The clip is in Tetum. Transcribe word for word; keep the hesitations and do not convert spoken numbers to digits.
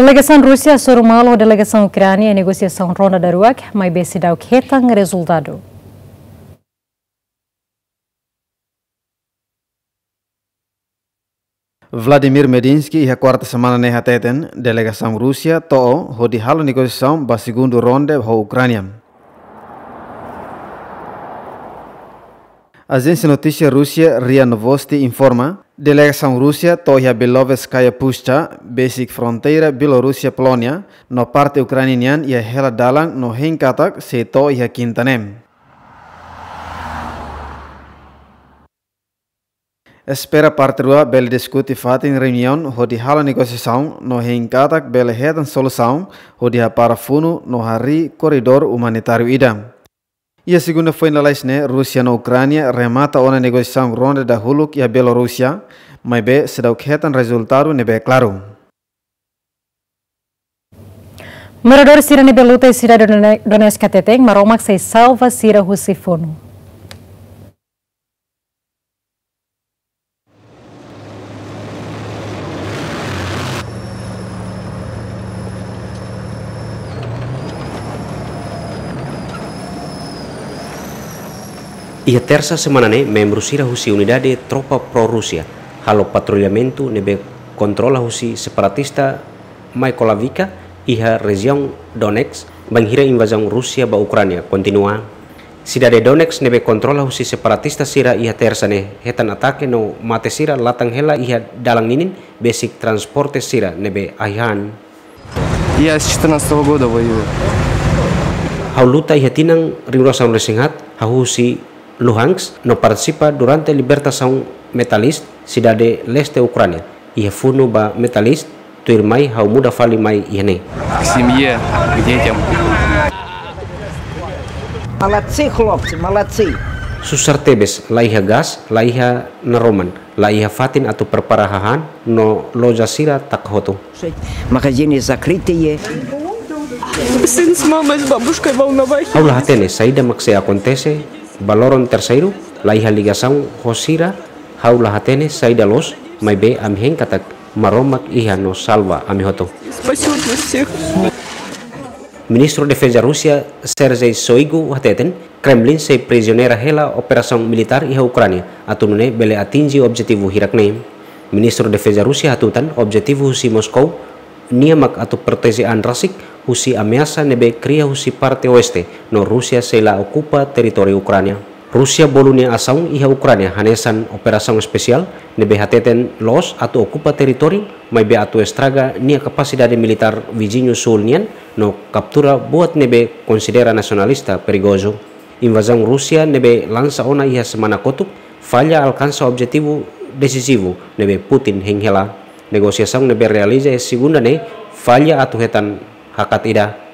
Delegasaun Rúsia hasoru malu ho delegasaun Ukránia iha negosiasaun ronda daruak, maibé seidauk hetan rezultadu. Vladimir Medinsky iha kuarta semana ne'e hateten, delegasaun Rúsia to'o hodi halo negosiasaun ba segundu ronde ho Ukránia. Ajénsia notísia Rúsia RIA Novosti informa, delegasaun Rúsia to'o iha Beloveskaya Pushcha, besik fronteira Bielorúsia-Polónia, no parte Ukránia nian iha hela dalan no hein katak sei to'o iha kinta ne'e. Espera parte rua bele diskute fatin reuniaun hodi halo negosiasaun no hein katak bele hetan solusaun hodi hapara funu no harii korredór umanitáriu ida. Iha segunda foin lalais ne'e, Rúsia no Ukránia remata ona negosiasaun ronda dahuluk iha Bielorúsia, maibé seidauk hetan rezultadu ne'ebé klaru. Moradór sira ne'ebé luta iha sidade Done-, Donetsk hateten, Maromak sei salva sira husi funu. Iha Tersa semana ne'e, membru sira husi unidade tropa pro-Rúsia halo patrullamentu ne'ebé kontrola husi separatista Mykolaivica iha rejiaun Donetsk, bainhira invazaun Rúsia ba Ukránia kontinua. Sidade Donetsk ne'ebé kontrola husi separatista sira iha Tersa ne'e hetan atake no mate sira latan hela iha dalan ninin besik transporte sira ne'ebé ahi han. Я с четырнадцатого года воюю. Ha'u luta iha tinan rihun rua sanulu-resin-haat, ha'u husi Luhansk no partisipa durante libertasaun Metalist, sidade leste Ukránia. Iha funu ba Metalist, tuirmai ha'u muda fali mai iha ne'e. К семье, к детям. Молодцы, хлопцы, молодцы. Susar tebes, la iha gás, la iha naroman, la iha fatin atu prepara hahán, no loja sira taka hotu. Магазины закрытые. Сын с мамой, с бабушкой в Волновахе. Ha'u la hatene saida mak sei akontese ba loron terseiru, la iha ligasaun ho sira, ha'u la hatene saida loos, maibé ami hein katak Maromak iha no salva ami hotu. Спасёт нас всех. Ministru Defeza Rúsia, Sergei Shoigu, hateten, Kremlin sei prisioneira hela operasaun militár iha Ukránia, atu nune'e bele atinje objetivu hirak-ne'e. Ministru Defeza Rúsia hatutan objetivu husi Moskau nian mak atu proteje an rasik husi ameasa ne'ebé kria husi parte oeste, no Rúsia sei la okupa territóriu Ukránia. Rúsia bolu nia asaun iha Ukránia hanesan operasaun espesiál, ne'ebé hateten loos atu okupa territóriu, maibé atu estraga nia kapasidade militár viziñu súl nian, no kaptura buat ne'ebé konsidera nasionalista perigozu. Invazaun Rúsia ne'ebé lansa ona iha semana kotuk, falla alkansa objetivu desizivu ne'ebé Putin hein hela. Negosiasaun ne'ebé realiza iha segunda ne'e falla atu hetan hakat ida.